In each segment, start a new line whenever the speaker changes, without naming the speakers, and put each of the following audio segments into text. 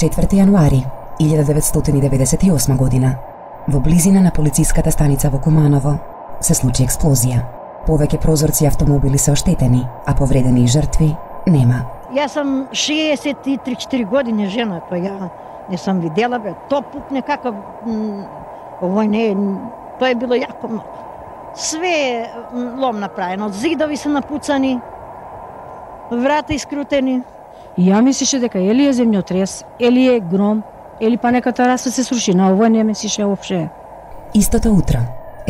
4 јануари 1998 година, во близина на полициската станица во Куманово, се случи експлозија. Повеќе прозорци автомобили се оштетени, а повредени и жртви нема.
Јас сум 63-4 години жена, тоа ја не сум видела, тоа пукне какав овој не, тоа е било јако многу. Све лом направено, зидови се напуцани, врата искрутени.
И ја мислеше дека или е земјотрес, или е гром, или па нека тераса се сруши, на овој не мислеше воопште.
Истото утро,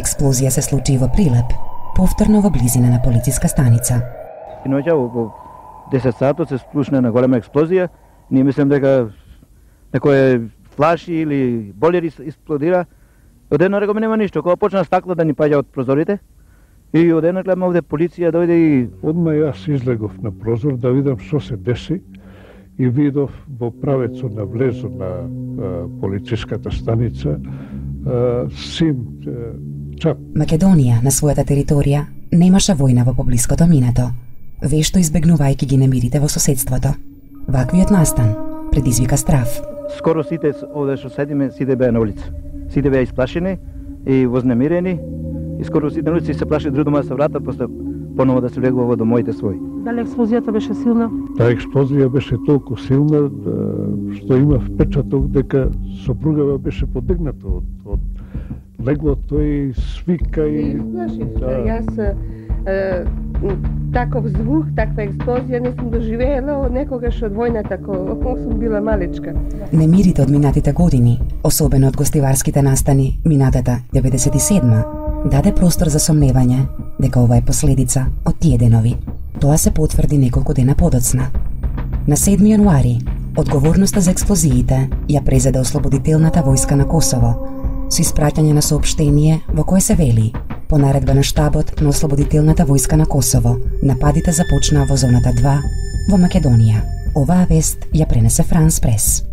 експлозија се случи во Прилеп, повторно во близина на полициска станица.
И ноќа околу 10 сатот се сплушна на голема експлозија. Ние мислам дека некој флаши или болер експлодира. Одеднаш рекоме нема ништо, кога почна стакло да ни паѓа од прозорите. И одеднаш гледам овде полиција дојде и
одма јас излегов на прозор да видам што се деси и видов во правецот на влезот на полициската станица сим чап.
Македонија на својата територија немаше војна во поблиското минато, вешто избегнувајќи ги немирите во соседството. Ваквиот настан предизвика страв.
Скоро сите овде што седиме, сите беа на улица. Сите беа исплашени и вознемирени. И скоро сите на улица се плаши друг дома да се вратат, после поново да се влегува во домовите своји.
Дали експлозијата беше силна?
Таа експлозија беше толку силна што има впечаток дека сопругава беше подигната од леглото и свика и
Јас таков звук, таква експлозија не сум доживеела од некогаш од војната, кога сум била малечка.
Немирите од минатите години, особено од гостиварските настани минатата 97-ма, даде простор за сомневање дека ова е последица од тие денови. Тоа се потврди неколку дена подоцна. На 7 јануари, одговорноста за експлозиите ја презеде Ослободителната војска на Косово, со испраќање на соопштение во кое се вели: по наредба на штабот на Ослободителната војска на Косово, нападите започнаа во зоната 2 во Македонија. Оваа вест ја пренесе Франс Прес.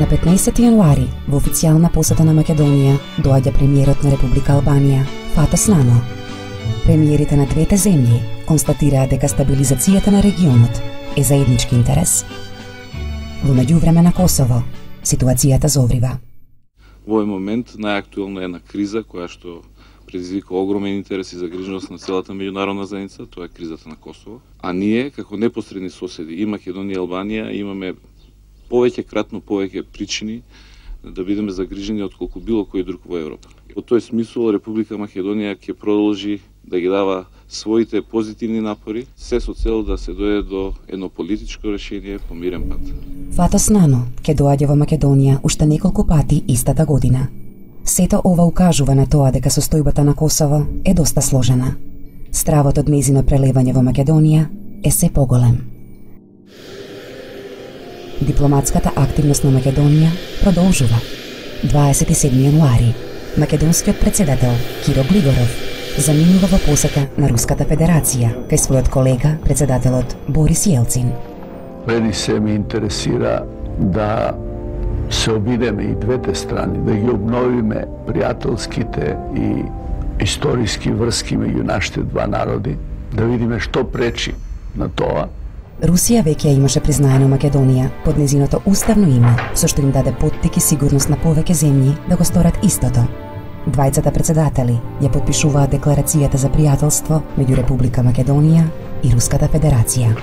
На 15 јануари, во официјална посета на Македонија, доаѓа премиерот на Република Албанија, Фато Снано. Премиерите на двете земји констатираа дека стабилизацијата на регионот е заеднички интерес. Во меѓувреме на Косово, ситуацијата зоврива.
Во овој момент најактуелна е една криза која што предизвика огромен интерес и загриженост на целата меѓународна заедница, тоа е кризата на Косово. А ние, како непосредни соседи и Македонија и Албанија, имаме кратно повеќе причини да бидеме загрижени отколку било кој друг во Европа. Во тој смисол Република Македонија ќе продолжи да ги дава своите позитивни напори, се со цел да се дојде до едно политичко решение по мирен пат.
Фато Снано ќе доаѓа во Македонија уште неколку пати истата година. Сето ова укажува на тоа дека состојбата на Косово е доста сложена. Стравот од нејзино прелевање во Македонија е се поголем. Дипломатската активност на Македонија продолжува. 27 јануари, македонскиот председател Киро Глигоров заминува во посета на Руската Федерација кај својот колега, председателот Борис Јелцин.
Мене се ми интересира да се обидеме и двете страни, да ги обновиме пријателските и историски врски меѓу нашите два народи, да видиме што пречи на тоа.
Русија веќе имаше признаено Македонија под незиното уставно име, со што им даде поттик и сигурност на повеќе земји да го сторат истото. Двајцата председатели ја потпишуваат декларацијата за пријателство меѓу Република Македонија и Руската Федерација.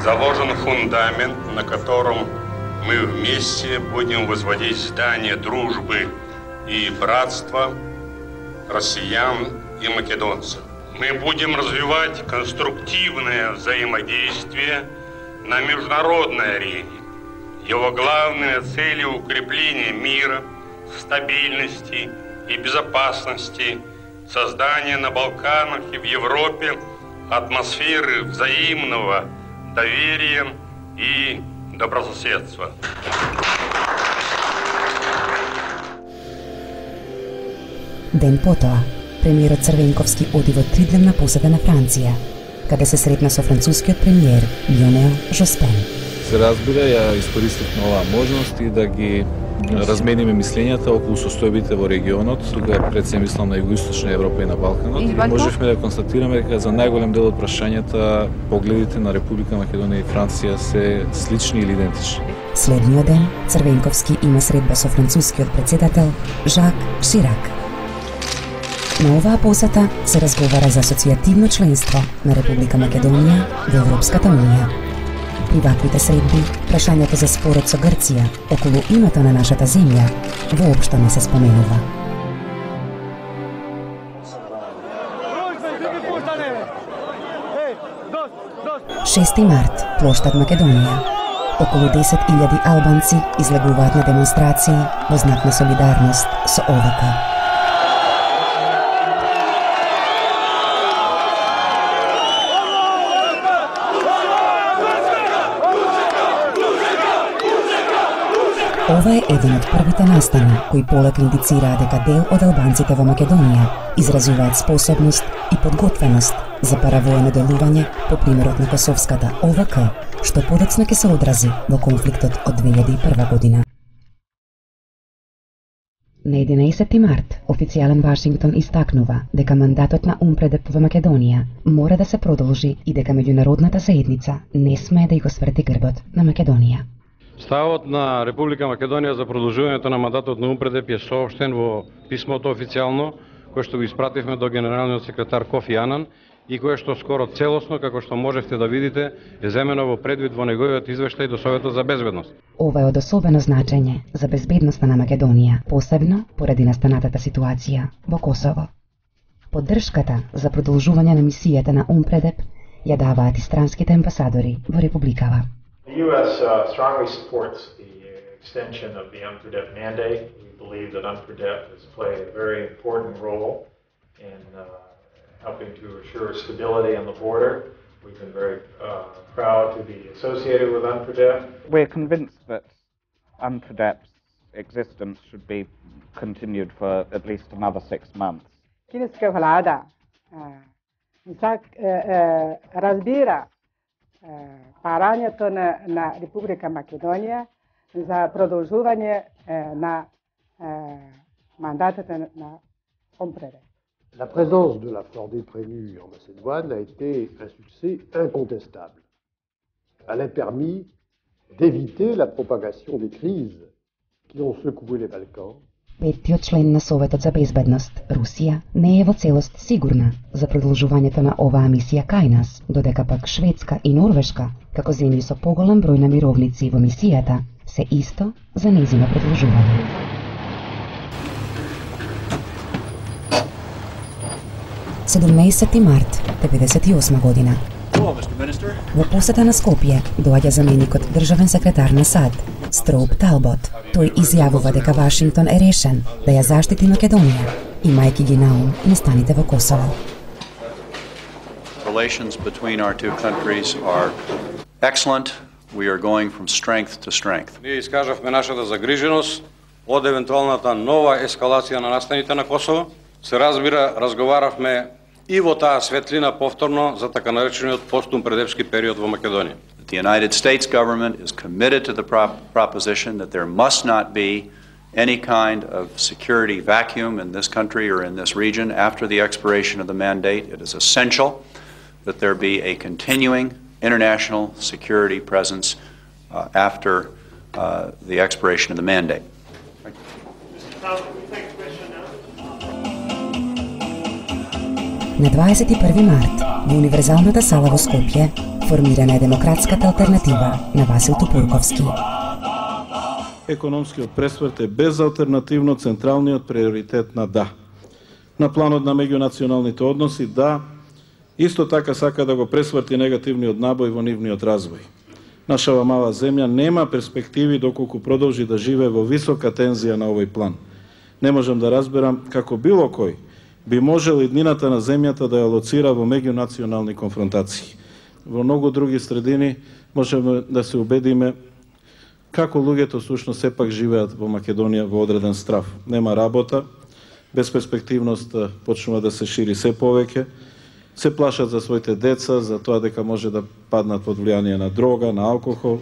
заложен фундамент, на котором мы вместе будем возводить здание дружбы и братства россиян и македонцев. Мы будем развивать конструктивное взаимодействие на международной арене. Его главная цель – укрепление мира, стабильности и безопасности, создание на Балканах и в Европе атмосферы взаимного доверия и добрососедства.
Ден потоа, премиерот Црвенковски оди во 3-дневна посета на Франција, каде се сретна со францускиот премиер Лионел Жоспен.
Се разбира, ја искористив на оваа можност и да ги размениме мислењата околу состојбите во регионот, тука пред се мислам на Југоисточна Европа и на Балканот. Можевме да констатираме дека за најголем дел од прашањата погледите на Република Македонија и Франција се слични или идентични.
Следниот ден, Црвенковски има средба со францускиот председател Жак Ширак. На оваа посета се разговара за асоцијативно членство на Република Македонија во Европската Унија. При ваквите средби, прашањето за спорот со Грција околу името на нашата земја воопшто не се споменува. 6 март, плоштад Македонија. Околу 10.000 албанци излегуваат на демонстрации во знак на солидарност со ОВК. Ова е еден од првите настани кои полека индицираа дека дел од албанците во Македонија изразуваат способност и подготвеност за паравоено делување по примерот на косовската ОВК, што подоцна ќе се одрази во конфликтот од 2001 година. На 11 март, официјален Вашингтон истакнува дека мандатот на УНПРЕДЕП во Македонија мора да се продолжи и дека меѓународната заедница не смее да го сврти грбот на Македонија.
Ставот на Република Македонија за продолжувањето на мандатот на УНПРЕДЕП е соопштен во писмото официјално, кое што го испративме до генералниот секретар Кофи Анан и кое што скоро целосно, како што можевте да видите, е земено во предвид во неговиот извештај до Советот за безбедност.
Ова е од особено значење за безбедноста на Македонија, посебно поради настанатата ситуација во Косово. Поддршката за продолжување на мисијата на УНПРЕДЕП ја даваат и странските амбасадори во Републикава.
The U.S. Strongly supports the extension of the UNPREDEP mandate. We believe that UNPREDEP has played a very important role in helping to assure stability on the border. We've been very proud to be associated with UNPREDEP.
We're convinced that UNPREDEP's existence should be continued for at least another 6 months.
Kineska vlada разбира парањето на Република Македонија за продолжување на мандатот на УНПРЕДЕП.
La présence de la Fordée prévue en Macédoine a été un succès incontestable. Elle a permis d'éviter la propagation des crises qui ont secoué les Balkans.
Петтиот член на Советот за безбедност, Русија, не е во целост сигурна за продолжувањето на оваа мисија кај нас, додека пак Шведска и Норвешка, како земји со поголем број на мировници во мисијата, се исто за нејзино продолжување. Март 1998 година. Во посета на Скопје доаѓа заменикот државен секретар на САД, Строуп Талбот. Тој изјавува дека Вашингтон е решен да ја заштити Македонија, имајќи ги на ум настаните во Косово.
Relations between our two countries are excellent. We are going from strength to strength.
Ние искажавме нашата загриженост од евентуалната нова ескалација на настаните на Косово. Се разбира, разговаравме и во таа светлина повторно за така наречениот постумпредепски период во Македонија.
The United States government is committed to the proposition that there must not be any kind of security vacuum in this country or in this region after the expiration of the mandate. It is essential that there be a continuing international security presence after the expiration of the mandate.
На 21 март, во Универзалната сала во Скопје, Формирана е демократската алтернатива на Васил Тупурковски.
Економскиот пресврт е безалтернативно централниот приоритет на ДА. На планот на меѓунационалните односи ДА исто така сака да го пресврти негативниот набој во нивниот развој. Нашава мала земја нема перспективи доколку продолжи да живее во висока тензија на овој план. Не можам да разберам како било кој би можел иднината на земјата да ја лоцира во меѓунационални конфронтации. Во многу други средини можеме да се убедиме како луѓето сушност сепак живеат во Македонија во одреден страв. Нема работа, безперспективност почнува да се шири се повеќе, се плашат за своите деца, за тоа дека може да паднат под влијание на дрога, на алкохол,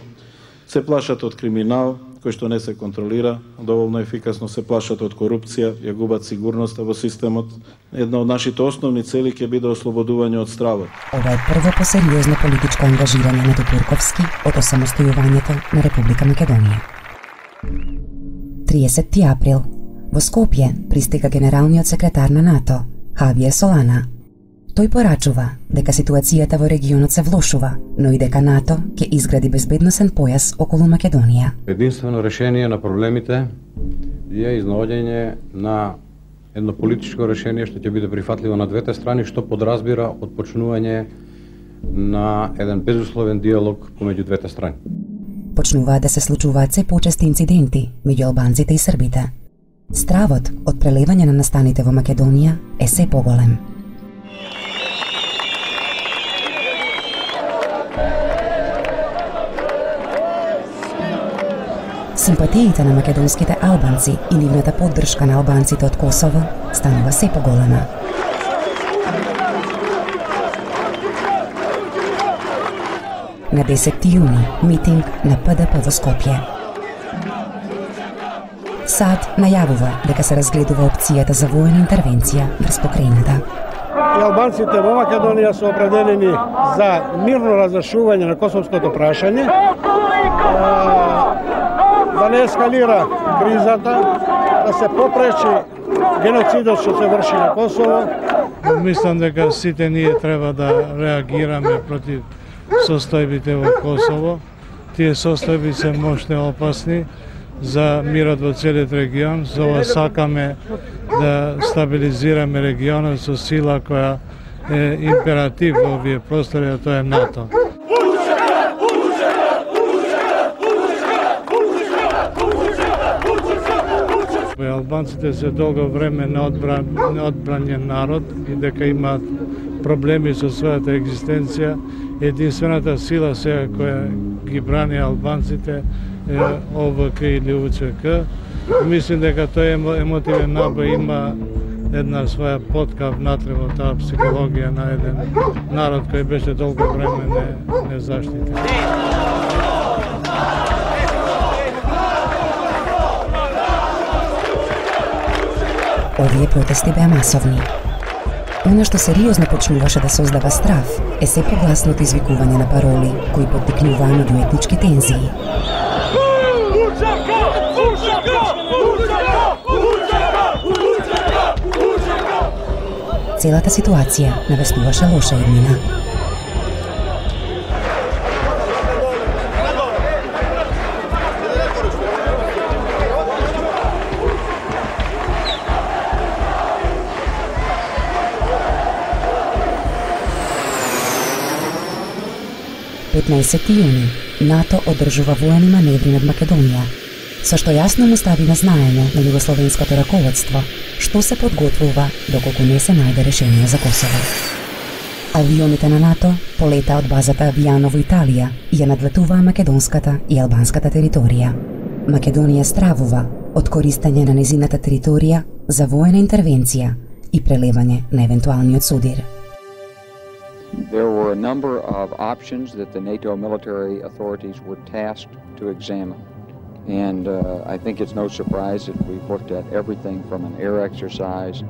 се плашат од криминал, кој што не се контролира доволно ефикасно, се плашат од корупција, ја губат сигурноста во системот. Една од нашите основни цели ќе биде ослободување од стравот.
Ова е прво посериозно политичко ангажирање на Тупурковски од осамостојувањето на Република Македонија. 30 април. Во Скопје пристига генералниот секретар на НАТО, Хавиер Солана. Тој порачува дека ситуацијата во регионот се влошува, но и дека НАТО ќе изгради безбедносен појас околу Македонија.
Единствено решение на проблемите е изнаоѓање на едно политичко решение што ќе биде прифатливо на двете страни, што подразбира отпочнување на еден безусловен диалог помеѓу двете страни.
Почнуваат да се случуваат се почести инциденти меѓу албанците и србите. Стравот од прелевање на настаните во Македонија е се поголем. Симпатиите на македонските албанци и нивната поддршка на албанците од Косово станува се поголема. На 10 јуни митинг на ПДП во Скопје. САД најавува дека се разгледува опцијата за воена интервенција врз покрајната.
И албанците во Македонија се определени за мирно разрешување на косовското прашање, да не ескалира кризата, да се попречи геноцидот што се врши на Косово.
Мислам дека сите ние треба да реагираме против состојбите во Косово. Тие состојби се мощни опасни за мирот во целиот регион. За ова сакаме да стабилизираме регионот со сила која е императив во овие простори, а тоа е НАТО. Албанците се долго време неодбранjen народ и дека имаат проблеми со својата екзистенција. Единствената сила сега која ги брани албанците е ОВК или УЧК. Мислим дека тој емотивен набој има една своја потка внатре во таа психологија на еден народ кој беше долго време незаштитен.
Овие протести беа масовни. Оно што сериозно почнуваше да создава страв е се погласното извикување на пароли кои поттикнуваа меѓуетнички тензии. Целата ситуација навестуваше лоша иднина. јуни, НАТО одржува воени маневри над Македонија, со што јасно му стави на знаење на југословенското раководство што се подготвува доколку не се најде решение за Косово. Авионите на НАТО полета од базата Авијано во Италија и ја надлетуваа македонската и албанската територија. Македонија стравува од користење на незината територија за воена интервенција и прелевање на евентуалниот судир.
There were a number of options that the NATO military authorities were tasked to examine. And I think it's no surprise that we've looked at everything from an air exercise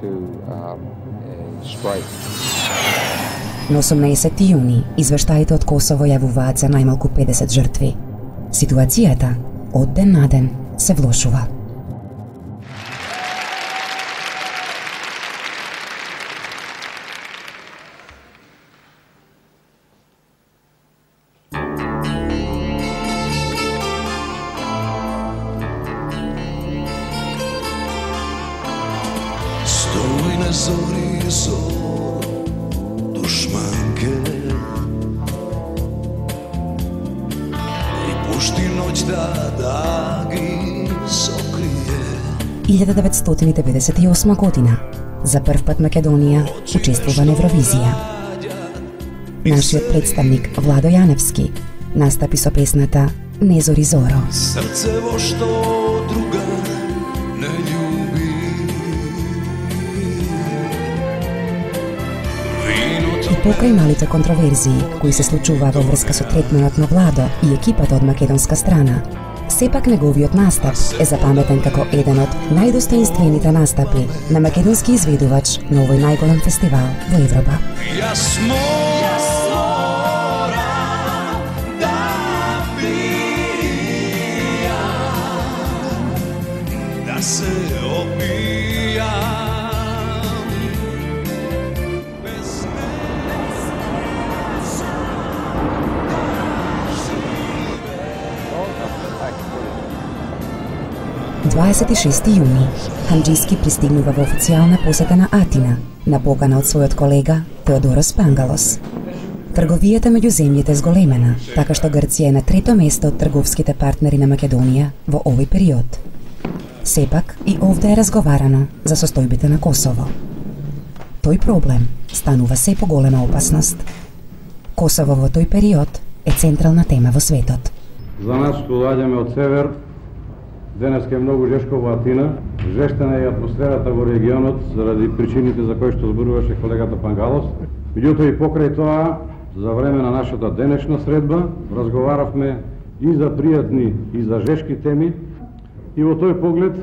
to a strike.
На 18 јуни извештаите од Косово јавуваат за најмалку 50 жртви. Ситуацијата од ден на ден се влошува.
zori zor dušmanke I pušti noć da ги сокрие.
1998 година. За прв пат Македонија учествува на Евровизија. Нашиот представник Владо Јаневски настапи со песната Не зори зоро.
Срцево што друга не љуби.
И покрај малите контроверзии кои се случуваа во врска со третманот на Владо и екипата од македонска страна, сепак неговиот настап е запаметен како еден од најдостоинствените настапи на македонски изведувач на овој најголем фестивал во Европа.
Јас морам да пијам, да се опијам.
26 јуни, Ханџиски пристигнува во официјална посета на Атина, на покана од својот колега Теодорос Пангалос. Трговијата меѓу земјите е зголемена, така што Грција е на трето место од трговските партнери на Македонија во овој период. Сепак и овде е разговарано за состојбите на Косово. Тој проблем станува се поголема опасност. Косово во тој период е централна тема во светот.
За нас што доаѓаме од север, денес е многу жешко во Атина. Жештена е атмосферата во регионот заради причините за кои што зборуваше колегата Пангалос. Меѓутоа и покрај тоа, за време на нашата денешна средба, разговаравме и за пријатни и за жешки теми. И во тој поглед,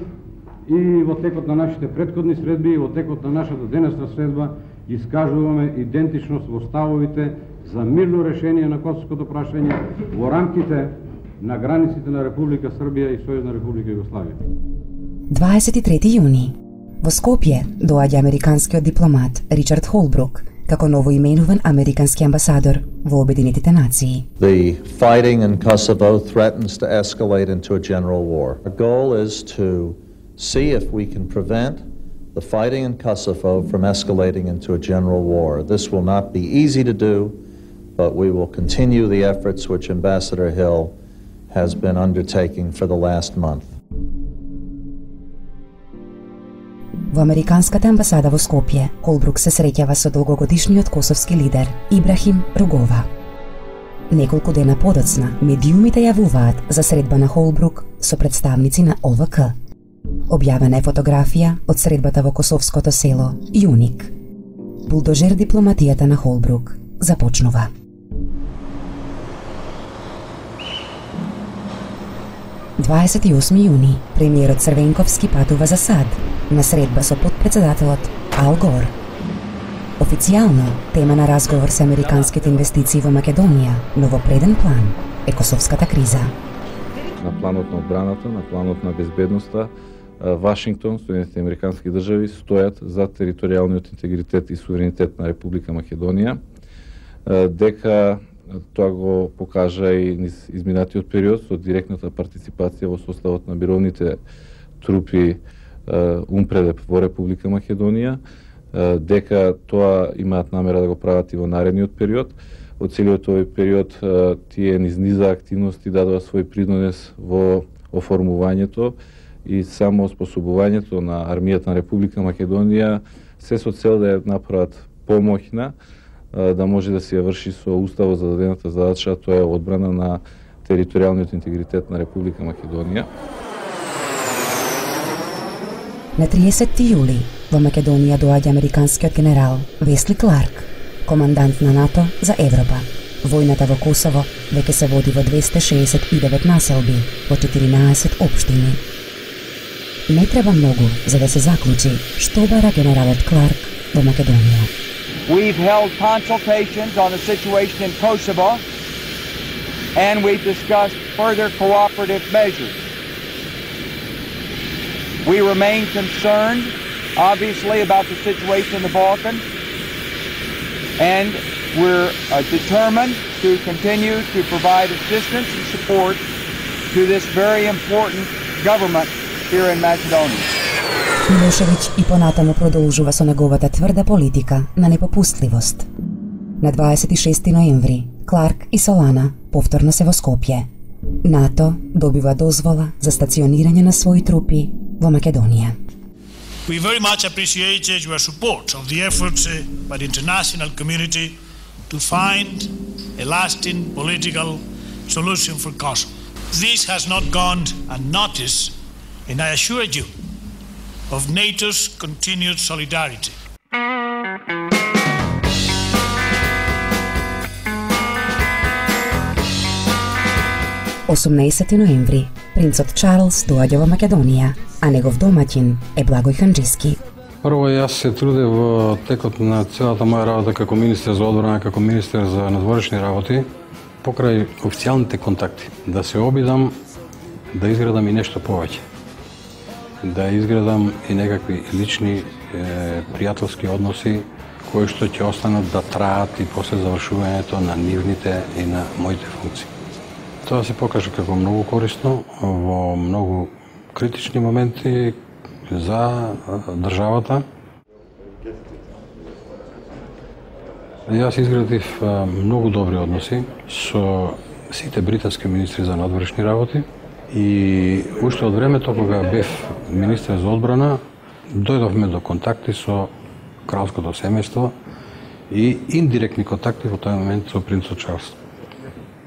и во текот на нашите претходни средби, и во текот на нашата денесна средба, искажуваме идентичност во ставовите за мирно решение на косовското прашање во рамките на границите на Република Србија и Сојузна Република Југославија.
23 јуни. Во Скопје доаѓа американскиот дипломат Ричард Холбрук како новоименуван американски амбасадор во Обединетите нации.
The fighting in Kosovo threatens to escalate into a general war. Our goal is to see if we can prevent the fighting in Kosovo from escalating into a general war. This will not be easy to do, but we will continue the efforts which Ambassador Hill has been undertaking for the last month.
Во американската амбасада во Скопје, Холбрук се среќава со долгогодишниот косовски лидер Ибрахим Ругова. Неколку дена подоцна, медиумите јавуваат за средба на Холбрук со представници на ОВК. Објавена е фотографија од средбата во косовското село Јуник. Булдожер дипломатијата на Холбрук започнува. јуни, премиерот Црвенковски патува за САД на средба со подпредседателот Ал Гор. Официјално, тема на разговор со американските инвестиции во Македонија, но во преден план е косовската криза.
На планот на одбраната, на планот на безбедноста, Вашингтон, Соединените американски држави стојат за територијалниот интегритет и суверенитет на Република Македонија, дека тоа го покажа и низ изминатиот период со директната партиципација во составот на мировните трупи УНПРЕДЕП во Република Македонија, дека тоа имаат намера да го прават и во наредниот период. Во целиот овој период тие низ низа активности дадоа свој принос во оформувањето и само оспособувањето на армијата на Република Македонија, се со цел да ја направат помоќна, да може да се ја врши со уставо зададената задача, тоа е одбрана на територијалниот интегритет на Република Македонија.
На 30 јули во Македонија доаѓа американскиот генерал Весли Кларк, командант на НАТО за Европа. Војната во Косово веќе се води во 269 населби во 14 општини. Не треба многу за да се заклучи што бара генералот Кларк во Македонија.
We've held consultations on the situation in Kosovo, and we've discussed further cooperative measures. We remain concerned, obviously, about the situation in the Balkans, and we're determined to continue to provide assistance and support to this very important government here in Macedonia.
Милошевиќ и понатаму продолжува со неговата тврда политика на непопустливост. На 26 ноември, Кларк и Солана повторно се во Скопје. НАТО добива дозвола за стационирање на своји трупи во Македонија.
We very much appreciate your support of the efforts by the international community to find a lasting political solution for Kosovo. This has not gone unnoticed, and I assure you of NATO's continued solidarity.
Осумнаесети ноември, принцот Чарлс доаѓа во Македонија, а негов домаќин е Благој Ханџиски.
Прво, јас се трудев во текот на целата моја работа како министер за одбрана, како министер за надворешни работи, покрај официјалните контакти, да се обидам да изградам и нешто повеќе. Да изградам и некакви лични пријателски односи кои што ќе останат да траат и после завршувањето на нивните и на моите функции. Тоа се покажа како многу корисно во многу критични моменти за државата. Јас изградив многу добри односи со сите британски министри за надворешни работи и уште од времето кога бев министер за одбрана, дојдовме до контакти со кралското семејство и индиректни контакти во тој момент со принцот Чарлс.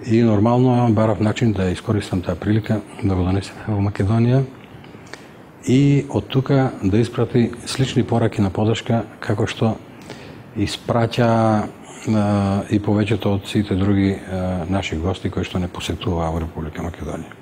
И нормално барав начин да искористам таа прилика да го донесеме во Македонија и од тука да испрати слични пораки на подршка како што испраќа и повеќето од сите други наши гости кои што не посетуваа во Република Македонија.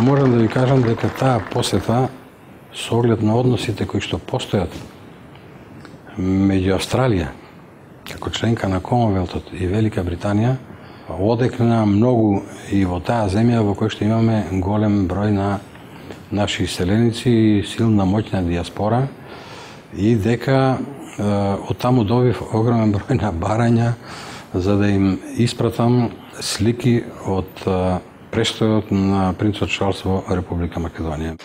Можам да ви кажам дека таа посета со оглед на односите кои што постојат меѓу Австралија како членка на Комонвелтот и Велика Британија одекна многу и во таа земја во која што имаме голем број на наши иселеници и силна моќна диаспора и дека од таму добив огромен број на барања за да им испратам слики од престојот на принцот Чарлс во Република Македонија.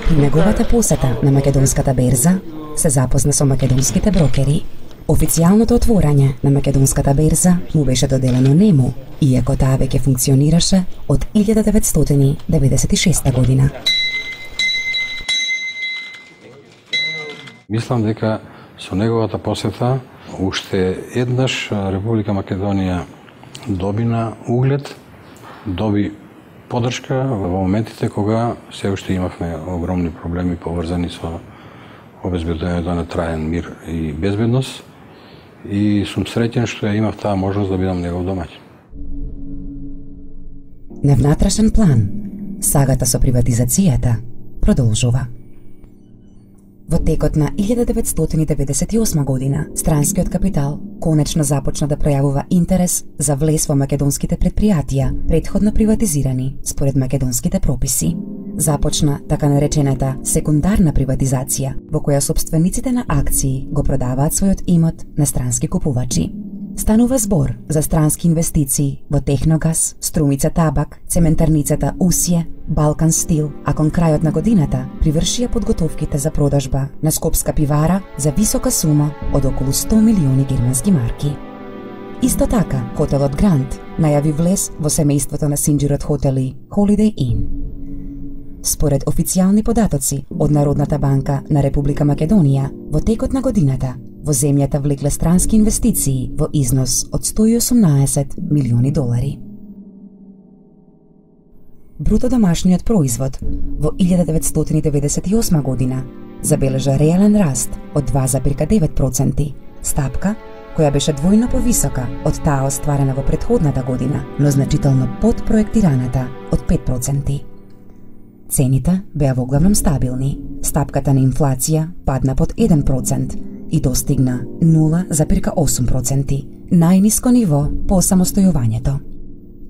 При неговата посета на македонската берза се запозна со македонските брокери. Официјалното отворање на македонската берза му беше доделено нему, иако таа веќе функционираше од 1996 година.
Мислам дека со неговата посета уште еднаш Република Македонија добина углед, доби поддршка во моментите кога се уште имавме огромни проблеми поврзани со обезбедувањето на траен мир и безбедност и сум среќен што ја имав таа можност да бидам негов домаќин.
На внатрешен план, сагата со приватизацијата продолжува. Во текот на 1998 година, странскиот капитал конечно започна да пројавува интерес за влез во македонските предпријатија, претходно приватизирани според македонските прописи. Започна така наречената секундарна приватизација, во која собствениците на акции го продаваат својот имот на странски купувачи. Станува збор за странски инвестиции во Техногаз, Струмица Табак, цементарницата Усје, Балкан Стил, а кон крајот на годината привршија подготовките за продажба на Скопска пивара за висока сума од околу 100 милиони германски марки. Исто така, хотелот Грант најави влез во семејството на синџирот хотели Holiday Inn. Според официјални податоци од Народната банка на Република Македонија, во текот на годината во земјата влекле странски инвестиции во износ од 118 милиони долари. Бруто домашниот производ во 1998 година забележа реален раст од 2,9%, стапка која беше двојно повисока од таа остварена во претходната година, но значително под проектираната од 5%. Цените беа воглавном стабилни, стапката на инфлација падна под 1%, и достигна 0,8%, најниско ниво по самостојувањето.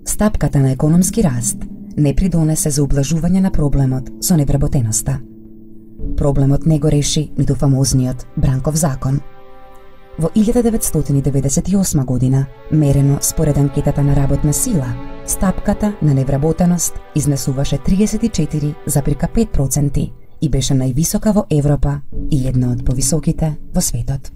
Стапката на економски раст не придонесе за ублажување на проблемот со невработеноста. Проблемот не го реши ниту фамозниот Бранков закон. Во 1998 година, мерено според анкетата на работна сила, стапката на невработеност изнесуваше 34,5% и беше највисока во Европа и една од повисоките во светот.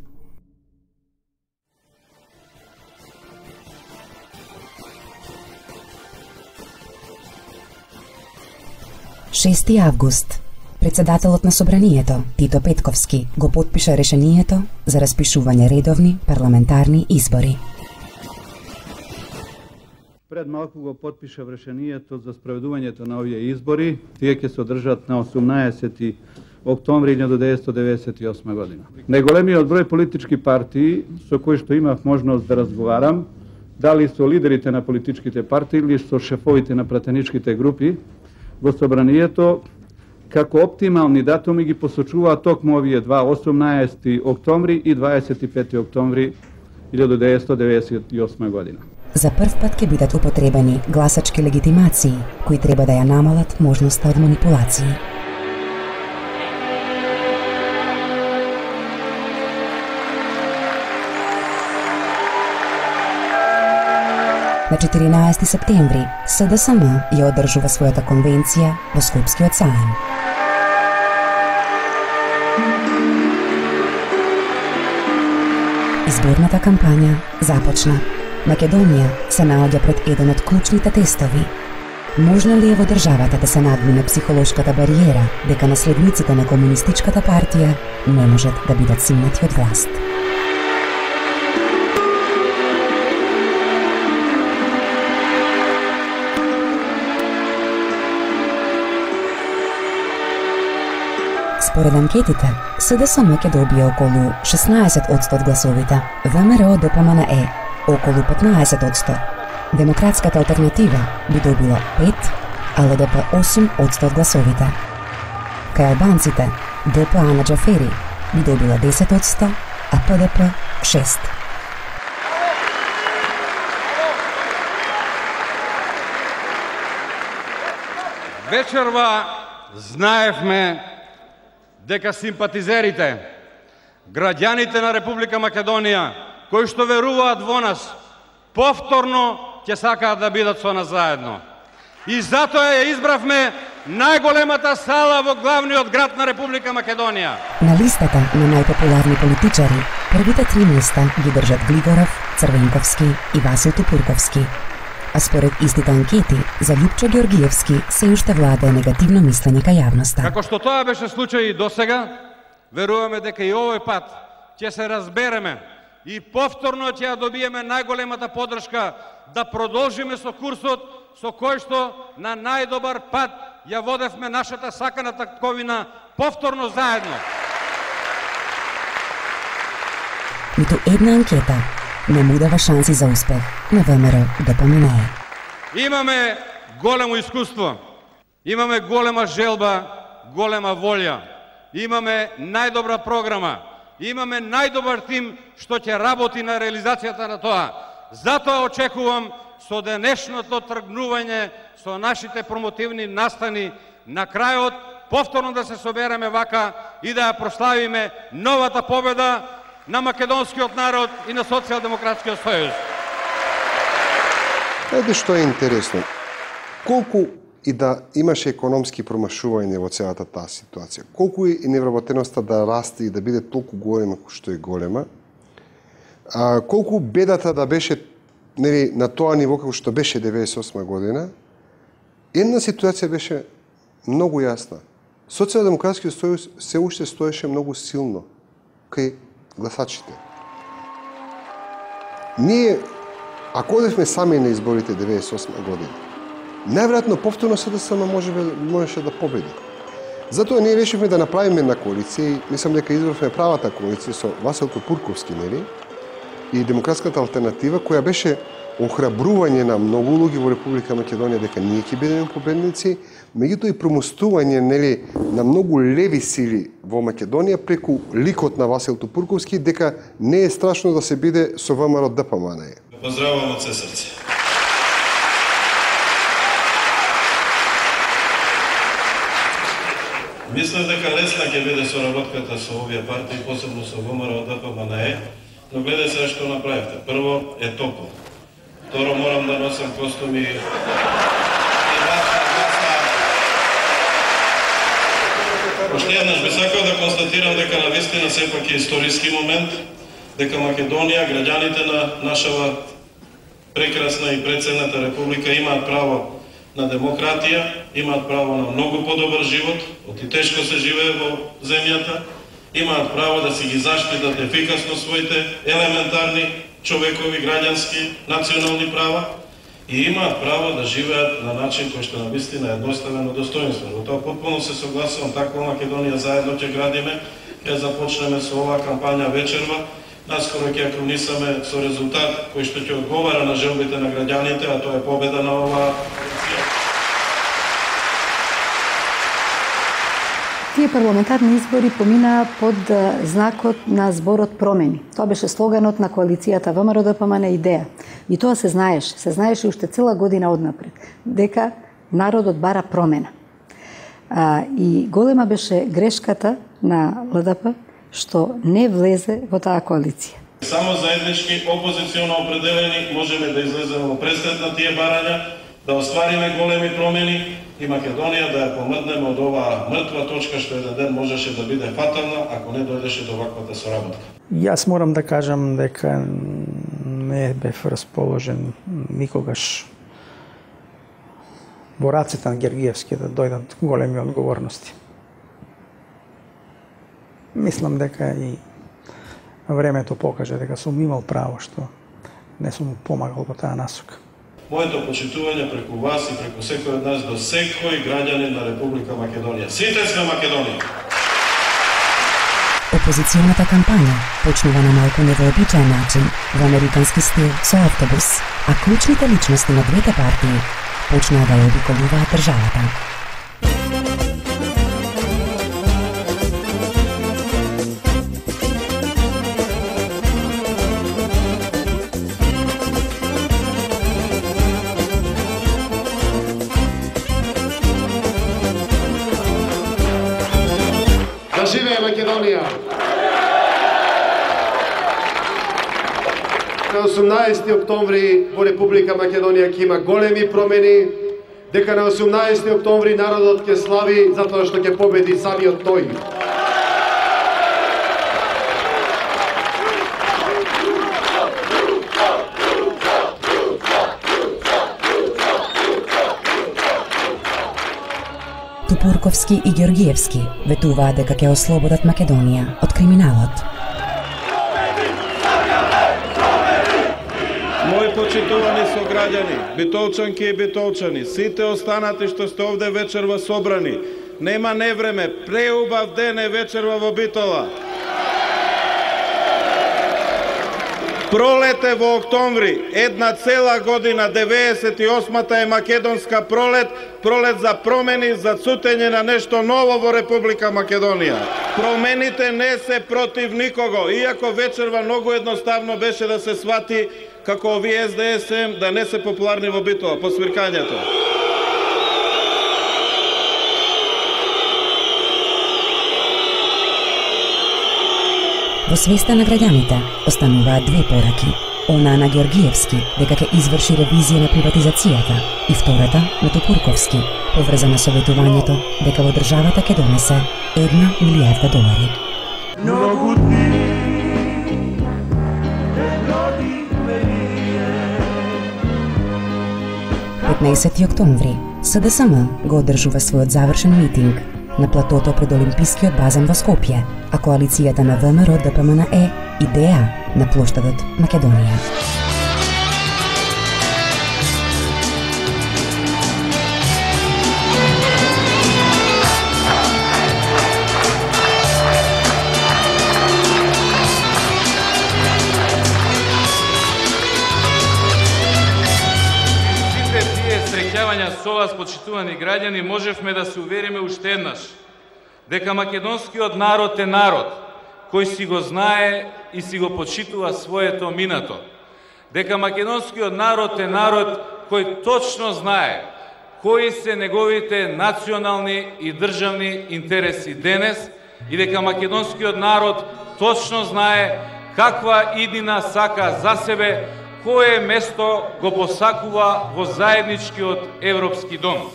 6 август. Председателот на Собранието, Тито Петковски, го потпиша решението за распишување редовни парламентарни избори.
Пред малку го потпиша решението за спроведувањето на овие избори. Тие ќе се одржат на 18 октомври 1998 година. Најголемиот број политички партии со кои што имав можност да разговарам, дали со лидерите на политичките партии или со шефовите на пратеничките групи во Собранието, како оптимални датуми ги посочуваат токму овие два, 18 октомври и 25 октомври 1998 година.
За прв пат ќе бидат употребени гласачки легитимации, кои треба да ја намалат можноста од манипулации. На 14 септември СДСМ ја одржува својата конвенција во Скопскиот саем. Изборната кампања започна. Македонија се наоѓа пред еден од клучните тестови. Можно ли е во државата да се надмине психолошката бариера дека наследниците на комунистичката партија не можат да бидат симнати од власт? Според анкетите, СДСМ ќе добие околу 16% од гласовите, ВМРО ДПМНЕ околу 15%, Демократската алтернатива би добила 5%, а ЛДП 8% од гласовите. Кај албанците, ДПА на Џафери би добила 10%, а ПДП 6%.
Вечерва знаевме дека симпатизерите, граѓаните на Република Македонија, кои што веруваат во нас, повторно ќе сакаат да бидат со нас заедно. И затоа ја избравме најголемата сала во главниот град на Република Македонија.
На листата на најпопуларни политичари, првите 3 места ги држат Глигоров, Црвенковски и Васил Тупурковски. А според истите анкети, за Љупчо Георгиевски се уште владае негативно мислење кај јавноста.
Како што тоа беше случај и досега, веруваме дека и овој пат ќе се разбереме и повторно ќе ја добиеме најголемата поддршка да продолжиме со курсот со кој што на најдобар пат ја водевме нашата сакана татковина повторно заедно.
Ниту една анкета не му дава шанси за успех на ВМРО ДПМНЕ.
Имаме големо искуство, имаме голема желба, голема волја, имаме најдобра програма, имаме најдобар тим што ќе работи на реализацијата на тоа. Затоа очекувам со денешното тргнување со нашите промотивни настани на крајот повторно да се собереме вака и да ја прославиме новата победа на македонскиот народ и на Социјалдемократскиот сојуз.
Еде што е интересно. Колку и да имаше економски промашување во целата таа ситуација, колку и невработеноста да расте и да биде толку голема што е голема, колку бедата да беше на тоа ниво како што беше 98 година, една ситуација беше многу јасна. Социјалдемократскиот сојуз се уште стоеше многу силно кај гласачите. Ние, ако одевме сами на изборите 98 година, најверојатно повторно СДСМ можеше да победи. Затоа ние решивме да направиме една коалиција и мислам дека избравме правата коалиција со Васил Тупурковски, и Демократската алтернатива, која беше охрабрување на многу луѓе во Република Македонија дека ние ќе бидеме победници, меѓутоа и промостување на многу леви сили во Македонија преку ликот на Васил Тупурковски дека не е страшно да се биде со ВМРО ДПМН.
Поздравувам од се срце. Мислам дека лесна ќе биде соработката со овие партии, посебно со ВМРО ДПМН, но гледај се што направивте. Прво е топло. Второ морам да носам костуми. Уште еднаш би сакал да констатирам дека навистина сепак е историски момент, дека Македонија, граѓаните на нашава прекрасна и преценета република имаат право на демократија, имаат право на многу подобар живот, оти тешко се живее во земјата, имаат право да си ги заштитат ефикасно своите елементарни човекови, граѓански, национални права и имаат право да живеат на начин кој што навистина е едноставено достоинствен. Во тоа потпуно се согласувам, таква Македонија заедно ќе градиме, ќе започнеме со оваа кампања вечерва, наскоро ќе кронисаме со резултат кој што ќе одговара на желбите на граѓаните, а тоа е победа на оваа коалиција.
Тие парламентарни избори поминаа под знакот на зборот промени. Тоа беше слоганот на коалицијата ВМРО ДПМН идеја. И тоа се знаеше уште цела година однапред, дека народот бара промена. И голема беше грешката на ЛДП што не влезе во таа коалиција.
Само заеднички опозиционо определени можеме да излеземе во пресред на тие барања, да оствариме големи промени и Македонија да ја помрднеме од оваа мртва точка што еден ден можеше да биде фатална ако не дојдеше до ваквата соработка.
Јас морам да кажам дека не бев расположен никогаш во рацете на Георгиевски да дојдат големи одговорности. Мислам дека и времето покаже дека сум имал право што не сум помагал во таа насока.
Моето почитување преку вас и преку секој од нас до секој граѓанин на Република Македонија. Сите сме Македонија!
Опозиционата кампања почнува на малку невообичаен начин, во американски стил со автобус, а клучните личности на двете партии почнаа да ја обиколуваат државата.
Да живее Македонија! На 18 октомври во Република Македонија ќе има големи промени, дека на 18 октомври народот ќе слави затоа што ќе победи самиот тој.
Тупурковски и Георгиевски ветуваат дека ќе ослободат Македонија од криминалот.
Мои почитувани сограѓани, битолчанки и битолчани, сите останати што сте овде вечерва собрани, нема невреме, преубав ден е вечерва во Битола. Пролет е во октомври, една цела година, 98-та е македонска пролет, пролет за промени, за цутење на нешто ново во Република Македонија. Промените не се против никого, иако вечерва многу едноставно беше да се свати како овие СДСМ да не се популарни во Битола, по свиркањето.
Во свеста на граѓаните остануваат две пораки. Она на Георгиевски дека ќе изврши ревизија на приватизацијата и втората на Тупурковски поврзана со ветувањето дека во државата ќе донесе $1 милијарда.
Многу дни
15 октомври СДСМ го одржува својот завршен митинг на платото пред Олимпискиот базен во Скопје, а коалицијата на ВМРО ДПМН е идеја на плоштадот Македонија.
со вас, почитувани граѓани, можевме да се увериме уште еднаш дека македонскиот народ е народ кој си го знае и си го почитува своето минато. Дека македонскиот народ е народ кој точно знае кои се неговите национални и државни интереси денес и дека македонскиот народ точно знае каква иднина сака за себе, кое место го посакува во заедничкиот европски дом.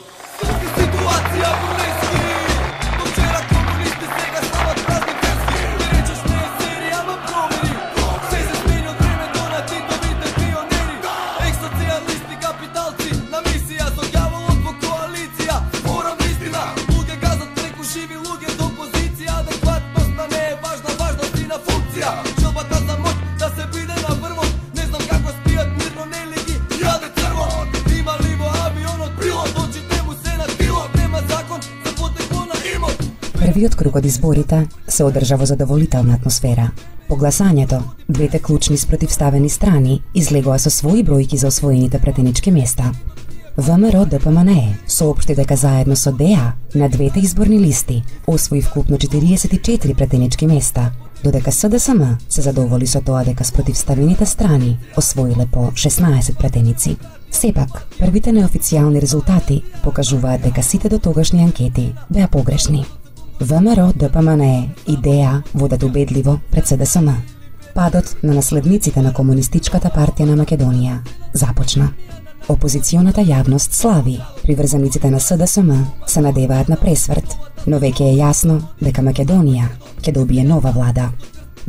Првиот круг од изборите се одржа во задоволителна атмосфера. По гласањето, двете клучни спротивставени страни излегоа со своји бројки за освоените претенички места. ВМРО ДПМНЕ соопшти дека заедно со ДЕА на двете изборни листи освои вкупно 44 претенички места, додека СДСМ се задоволи со тоа дека спротивставените страни освоиле по 16 претеници. Сепак, првите неофицијални резултати покажуваат дека сите дотогашни анкети беа погрешни. ВМРО ДПМНЕ и ДЕА водат убедливо пред СДСМ. Падот на наследниците на Комунистичката партија на Македонија започна. Опозиционата јавност слави, приврзаниците на СДСМ се надеваат на пресврт, но веќе е јасно дека Македонија ќе добие нова влада.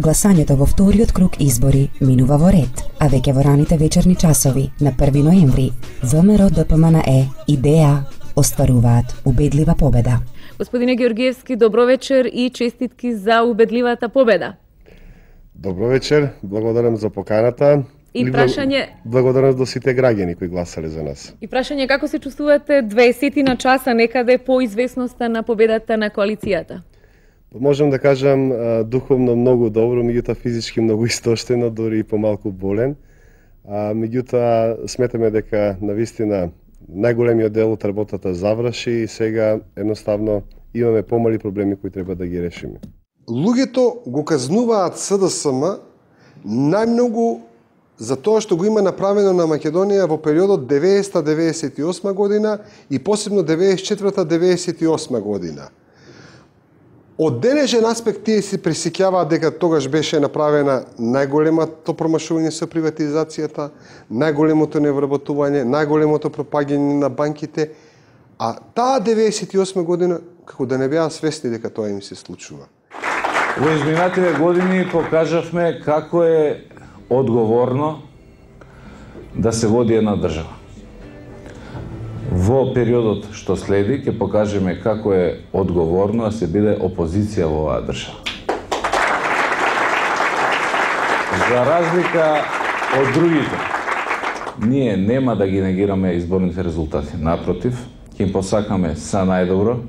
Гласањето во вториот круг избори минува во ред, а веќе во раните вечерни часови на 1 ноември ВМРО ДПМНЕ и ДЕА остваруваат убедлива победа.
Господине Георгиевски, добро вечер и честитки за убедливата победа.
Добро вечер, благодарам за поканата.
И прашање...
Благодарам до сите граѓани кои гласале за нас.
И прашање како се чувствувате 20 на часа некаде по известноста на победата на коалицијата?
Можам да кажам духовно многу добро, меѓутоа физички многу истоштено, дури и помалку болен. Меѓутоа сметаме дека навистина најголемиот дел од работата заврши и сега едноставно имаме помали проблеми кои треба да ги решиме. Луѓето го казнуваат СДСМ најмногу за тоа што го има направено на Македонија во периодот 90-98 година и посебно 94-98 година. Од денешен аспект тие се пресеќаваат дека тогаш беше направена најголемото промашување со приватизацијата, најголемото невработување, најголемото пропаѓање на банките, а таа 98 година како да не беа свесни дека тоа им се случува.
Во изминатите години покажавме како е одговорно да се води една држава. Во периодот што следи ќе покажеме како е одговорно да се биде опозиција во оваа држава. За разлика од другите, ние нема да ги негираме изборните резултати. Напротив, ќе им посакаме са најдобро,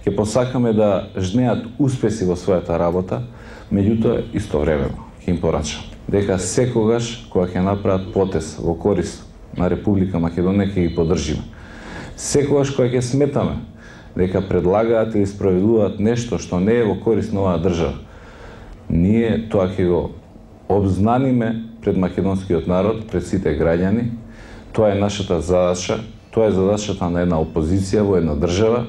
ќе посакаме да жнеат успеси во својата работа, меѓутоа истовремено ќе им порачам дека секогаш кога ќе направат потез во корист на Република Македонија ќе ги поддржиме. Секогаш кога ќе сметаме дека предлагаат или спроведуваат нешто што не е во корист на оваа држава, ние тоа ќе го обзнаниме пред македонскиот народ, пред сите граѓани. Тоа е нашата задача, тоа е задачата на една опозиција во една држава.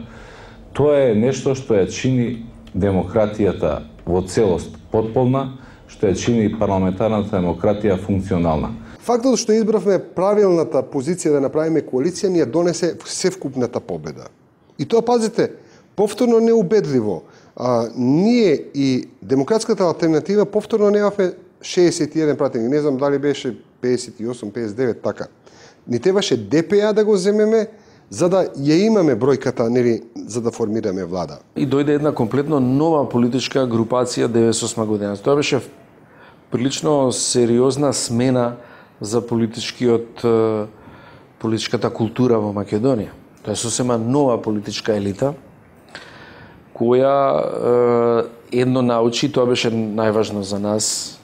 Тоа е нешто што ја чини демократијата во целост потполна, што ја чини парламентарната демократија функционална.
Фактот што избравме правилната позиција да направиме коалиција ни ја донесе севкупната победа. И тоа, пазите, повторно неубедливо. Ние и Демократската алтернатива повторно немавме 61 пратеник. Не знам дали беше 58, 59, така. Ни требаше ДПА да го земеме, за да ја имаме бројката, нели, за да формираме влада.
И дојде една комплетно нова политичка групација 98 година. Тоа беше прилично сериозна смена за политичката култура во Македонија. Тоа е сосема нова политичка елита, која едно научи, тоа беше најважно за нас,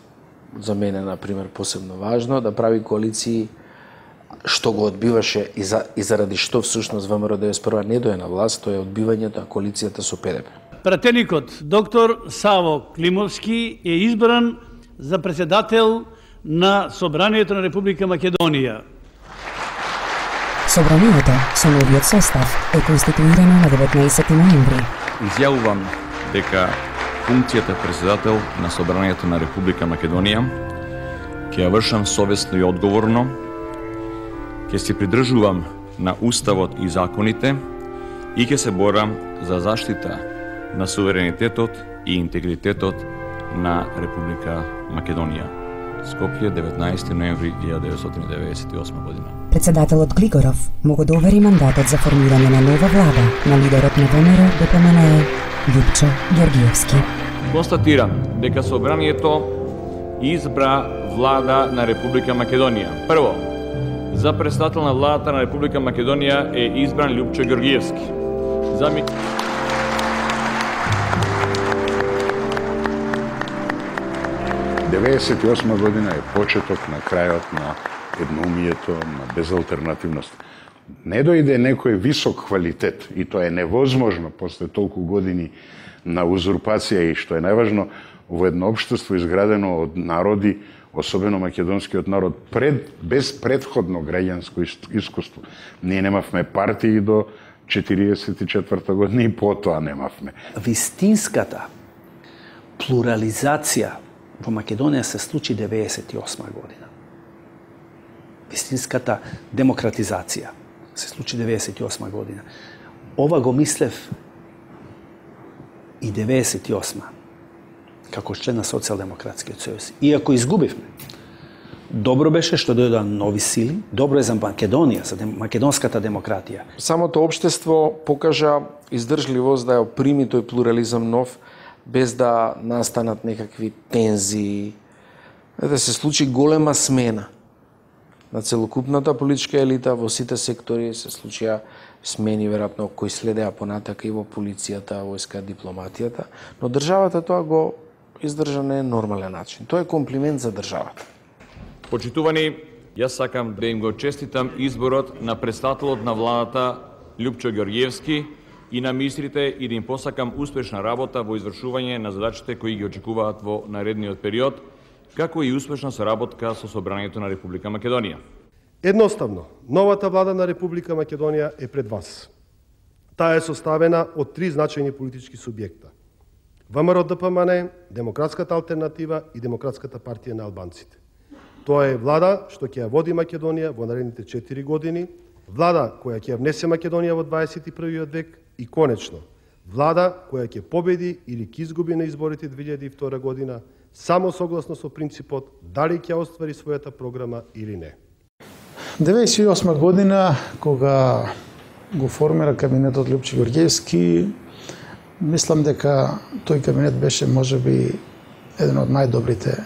за мене, например, посебно важно, да прави коалиции што го одбиваше и заради што всушност ВМРО 91 не дое на власт, тоа е одбивањето на коалицијата со ПДП.
Пратеникот доктор Саво Климовски е избран за председател на Собранието на Република Македонија.
Собранието со новиот состав е конституирано на 19 ноември.
Изјавувам дека функцијата председател на Собранието на Република Македонија ќе ја вршам совесно и одговорно, ќе се придржувам на Уставот и законите и ќе се борам за заштита на суверенитетот и интегритетот на Република Македонија. Скопје, 19 ноември 1998 година.
Председателот Глигоров му го довери мандатот за формирање на нова влада на лидерот на ВМРО ДПМНЕ Љупчо Ѓоргиевски.
Констатирам дека Собранието избра влада на Република Македонија. Прво, за председател на владата на Република Македонија е избран Љупчо Ѓоргиевски.
98 година е почеток на крајот на едноумието, на безалтернативност. Не дојде некој висок квалитет и тоа е невозможно после толку години на узурпација и што е најважно во едно општество изградено од народи, особено македонскиот народ, без предходно граѓанско искуство. Ние немавме партии до 44 година и потоа немавме.
Вистинската плурализација во Македонија се случи 98 година. Вистинската демократизација се случи 98 година. Ова го мислев и 98 како член на Социјалдемократскиот сојуз. Иако изгубивме, добро беше што дојдоа нови сили, добро е за Македонија, за македонската демократија.
Самото општество покажа издржливост да ја прими тој плурализам нов, без да настанат некакви тензии, да се случи голема смена на целокупната политичка елита во сите сектори, се случија смени веројатно кои следеа понатака и во полицијата, војска, дипломатијата, но државата тоа го издржа на нормален начин. Тоа е комплимент за државата.
Почитувани, јас сакам да им го честитам изборот на председателот на владата Љупчо Ѓоргиевски и на министрите и да им посакам успешна работа во извршување на задачите кои ги очекуваат во наредниот период, како и успешна соработка со Собранието на Република Македонија.
Едноставно, новата влада на Република Македонија е пред вас. Таа е составена од три значајни политички субјекта: ВМРО ДПМН, Демократската алтернатива и Демократската партија на албанците. Тоа е влада што ќе ја води Македонија во наредните 4 години, влада која ќе ја внесе Македонија во 21. век и конечно, влада која ќе победи или ќе изгуби на изборите 2002 година само согласно со принципот дали ќе оствари својата програма или не.
1998 година, кога го формира кабинетот Љупчо Ѓоргиевски, мислам дека тој кабинет беше можеби еден од најдобрите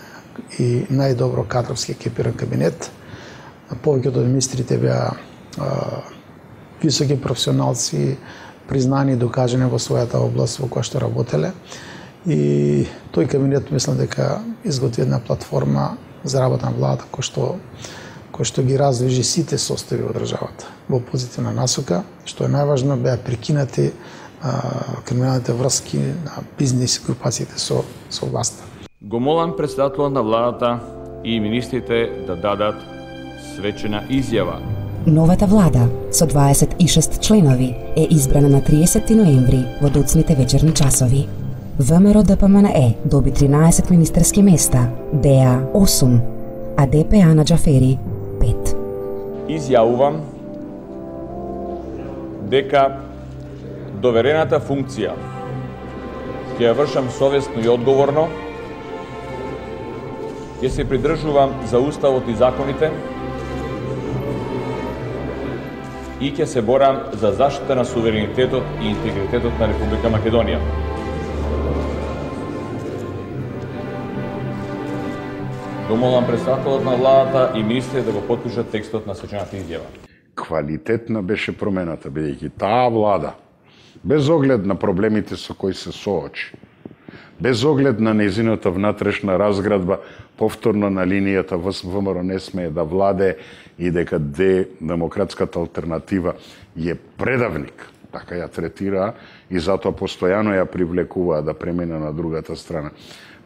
и најдобро кадровски екипиран кабинет. Повеќето од министрите беа високи професионалци, признани и докажани во својата област во која што работеле. И тој кабинет мислам дека изготви една платформа за работа на владата кој што ги раздвижи сите состојби во државата во позитивна насока, што е најважно, беа прекинати криминалните врски на бизнис групациите со власта.
Го молам председателот на владата и министрите да дадат свечена изјава.
Новата влада со 26 членови е избрана на 30 ноември во доцните вечерни часови. ВМРО ДПМНЕ доби 13 министерски места, ДЕА 8, а ДПА на Џафери 5.
Изјавувам дека доверената функција ќе ја вршам совесно и одговорно, ќе се придржувам за Уставот и законите и ќе се борам за заштита на суверенитетот и интегритетот на Република Македонија. Го молам председателот на владата и министрите да го потпишат текстот на свечената изјава.
Квалитетна беше промената, бидејќи таа влада, без оглед на проблемите со кои се соочи, без оглед на незината внатрешна разградба, повторно на линијата ВМРО не смее да владе и дека демократската алтернатива е предавник, така ја третира и затоа постојано ја привлекува да премине на другата страна.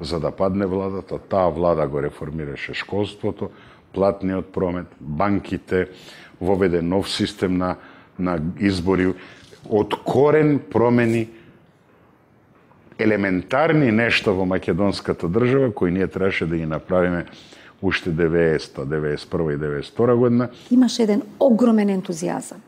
За да падне владата, таа влада го реформираше школството, платниот промет, банките, воведе нов систем на избори, од корен промени елементарни нешта во македонската држава кои ние требаше да ги направиме уште 90-та, 91-та и 92-та година.
Имаше еден огромен ентузијазам,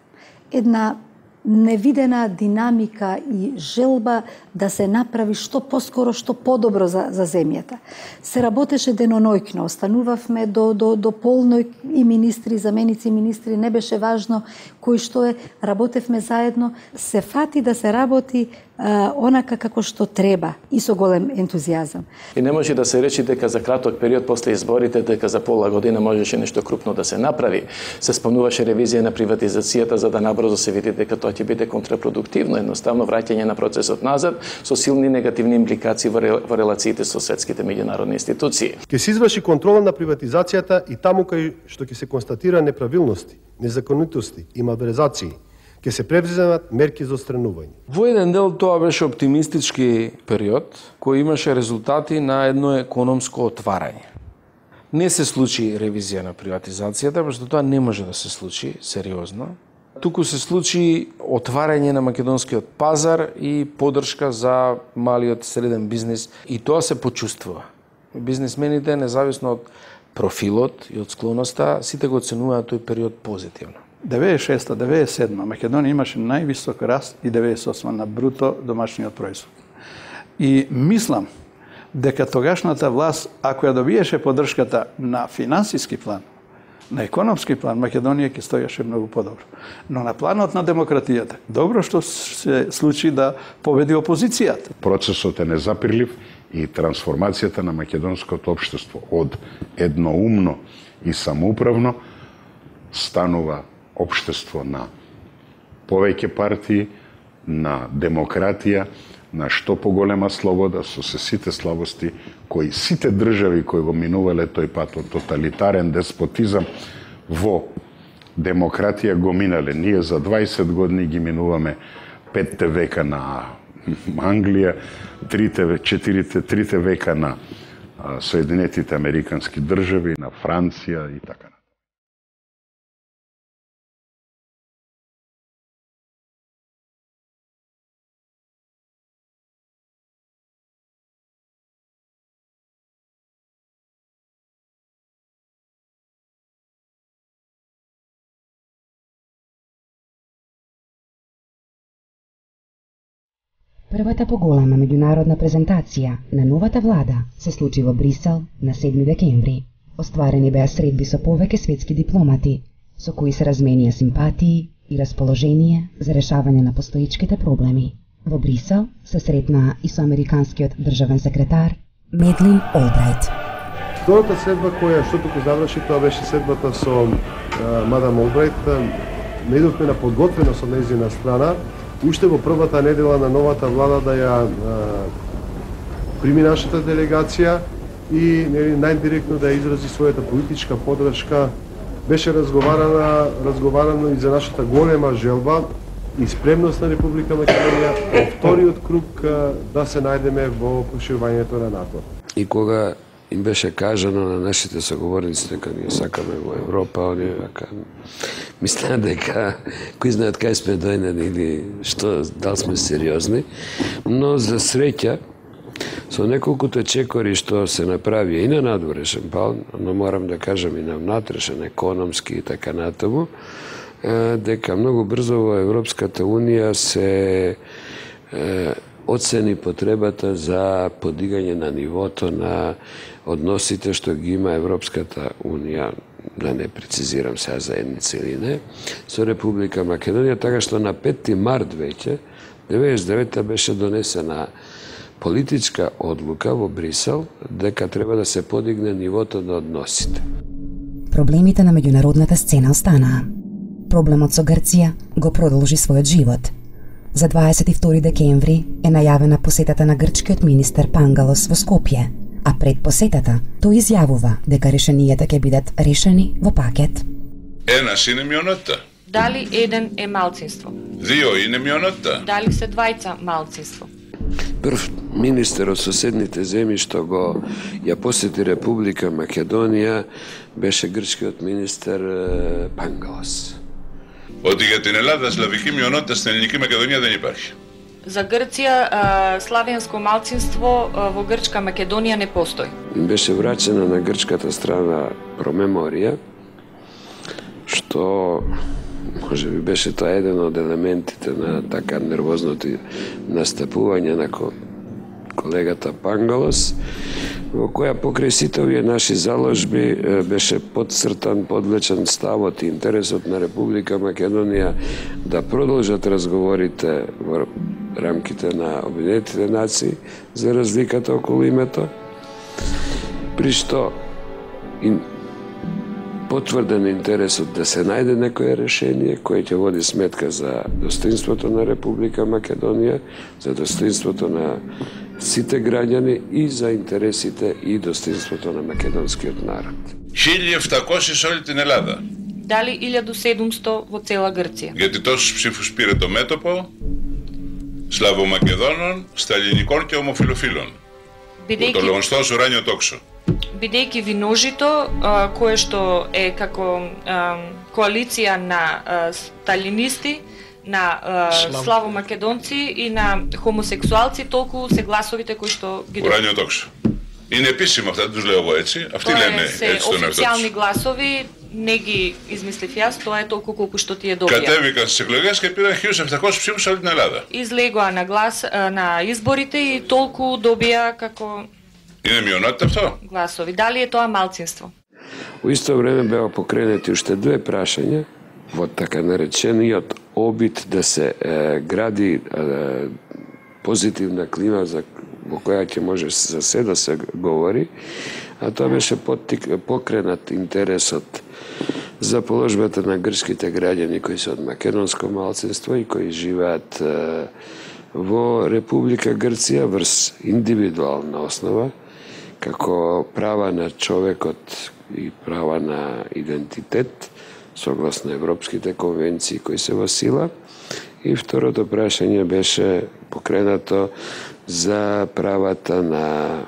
една невидена динамика и желба да се направи што поскоро, што подобро за земјата. Се работеше денонојкно, останувавме до полној и министри, заменици министри, не беше важно кој што е, работевме заедно, се фати да се работи онака како што треба и со голем ентузијазам.
И не може да се речи дека за краток период после изборите, дека за пола година можеше нешто крупно да се направи. Се спомнуваше ревизија на приватизацијата за да набрзо се види дека тоа ќе биде контрапродуктивно, едноставно враќање на процесот назад со силни негативни импликации во релациите со светските меѓународни институции.
Ќе се изврши контрола на приватизацијата и таму кај што ќе се констатира неправилности, незаконитости и малверзации, ќе се превземат мерки за отстранување.
Во еден дел тоа беше оптимистички период кој имаше резултати на едно економско отварање. Не се случи ревизија на приватизацијата, пошто тоа не може да се случи сериозно. Туку се случи отварање на македонскиот пазар и поддршка за малиот и среден бизнис и тоа се почувствува. Бизнисмените, независно од профилот и од склоноста, сите го оценуваат тој период позитивно.
96-97 Македонија имаше највисок раст и 98 на бруто домашниот производ. И мислам дека тогашната власт, ако ја добиеше поддршката на финансиски план, на економски план, Македонија ќе стоеше многу подобро. Но на планот на демократијата, добро што се случи да победи опозицијата.
Процесот е незапирлив и трансформацијата на македонското општество од едноумно и самоуправно станува општество на повеќе партии, на демократија, на што поголема слобода со сите слабости кои сите држави кои го минувале тој пат од тоталитарен деспотизам во демократија го минале. Ние за 20 години ги минуваме 5 века на Англија, 3 века на Соединетите Американски држави, на Франција и така.
Првата поголема меѓународна презентација на новата влада се случи во Брисел на 7 декември. Остварени беа средби со повеќе светски дипломати, со кои се разменија симпатии и расположение за решавање на постоечките проблеми. Во Брисел се сретна и со американскиот државен секретар Медлин Олбрайт.
Втората седба која што туку заврши, тоа беше седбата со мадам Олбрайт. Не идовме на подготвено со нејзина страна, уште во првата недела на новата влада да ја прими нашата делегација и најдиректно да ја изрази својата политичка поддршка. Беше разговарано и за нашата голема желба и спремност на Република Македонија во вториот круг да се најдеме во проширувањето на НАТО.
И кога им беше кажано на нашите соговорници дека ние сакаме во Европа, оние мислеа дека кои знаат кај сме дојдени или што, дали сме сериозни, но за среќа со неколкуто чекори што се направи и на надворешен план, но морам да кажам и на внатрешен, економски и така натаму, дека многу брзо во Европската Унија се оцени потребата за подигање на нивото на односите што ги има Европската Унија, да не прецизирам сега заедница или не, со Република Македонија, така што на 5 март веќе, 99-та беше донесена политичка одлука во Брисел дека треба да се подигне нивото на односите.
Проблемите на меѓународната сцена останаа. Проблемот со Грција го продолжи својот живот. За 22 декември е најавена посетата на грчкиот министер Пангалос во Скопје, а пред посетата тој изјавува дека решенијата ќе бидат решени во пакет.
Ένας είναι μειονότητα.
Дали еден е малцинство?
Δύο είναι μειονότητα.
Дали се двајца малцинство?
Прв министер од соседните земји што го ја посети Република Македонија беше грчкиот министер Пангалос.
Ότι για την Ελλάδα σλαβική μειονότητα στην Ελληνική Μακεδονία δεν υπάρχει.
За Грција славенско малцинство во Грчка Македонија не постои.
Беше враќена на грчката страна промеморија, што може би беше тоа еден од елементите на така нервозното настапување на колегата Пангалос, во која покрај сите овие наши заложби беше подцртан, подлечен ставот и интересот на Република Македонија да продолжат разговорите во рамките на Обединетите нации за разликата околу името, при што потврден интересот да се најде некое решение кое ќе води сметка за достоинството на Република Македонија, за достоинството на сите граѓани и за интересите и достоинството на македонскиот народ.
1.700 σε όλη την Ελλάδα.
Дали 1700 во цела Грција?
Γιατί τόσους ψήφους πήρε το μέτωπο Σλαβομακεδόνων, Σταλινικών και ομοφιλοφίλων. Το λεγονστός ουράνιο τόξο.
Бидејќи виножито, кое што е како коалиција на сталинисти, на славомакедонци и на хомосексуалци, толку се гласовите кои што ги добиваат.
Ουράνιο τόξο. Είναι επίσημα αυτά, τους λέω εγώ έτσι. Αυτοί λένε έτσι τον εαυτό τους.
Официјални гласови, не ги измислив јас, тоа е толку колку што тие добија.
Κατέβηκαν στις εκλογές και πήραν 1.700 ψήφους σε όλη την Ελλάδα.
Излегоа на изборите и толку добија како
Είναι μειονότητα αυτό?
Гласови. Дали е тоа малцинство?
Во исто време беа покренати уште две прашања во така наречениот обид да се гради позитивна клима во која ќе може за се да се говори, а тоа беше покренат интересот за положбата на грчките граѓани кои се од македонско малцинство и кои живеат во Република Грција врз индивидуална основа, како права на човекот и права на идентитет, согласно европските конвенции кои се во сила. И второто прашање беше покренато за правата на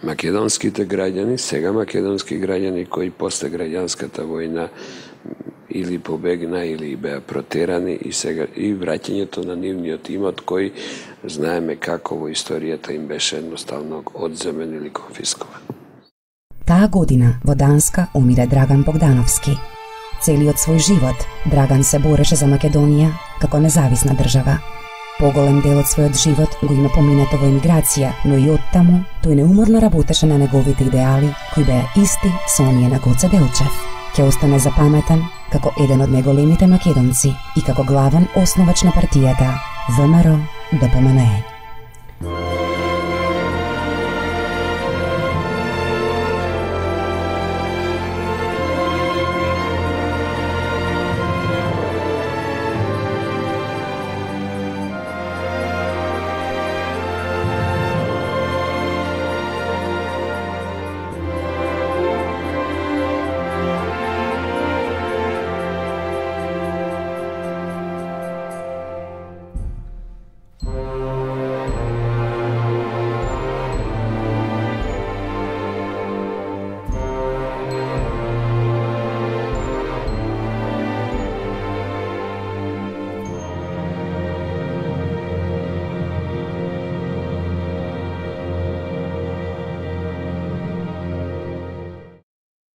македонските граѓани, сега македонски граѓани кои после граѓанската војна или побегна или беа протерани и сега и враќањето на нивниот имот кој знаеме како во историјата им беше едноставно одземен или конфискуван.
Таа година во Данска умира Драган Богдановски. Целиот свој живот Драган се бореше за Македонија како независна држава. Поголем дел од својот живот го има поминато во емиграција, но и оттаму тој неуморно работеше на неговите идеали кои беа исти со оние на Гоце Делчев. Ќе остане запаметен како еден од најголемите македонци и како главен основач на партијата ВМРО-ДПМНЕ.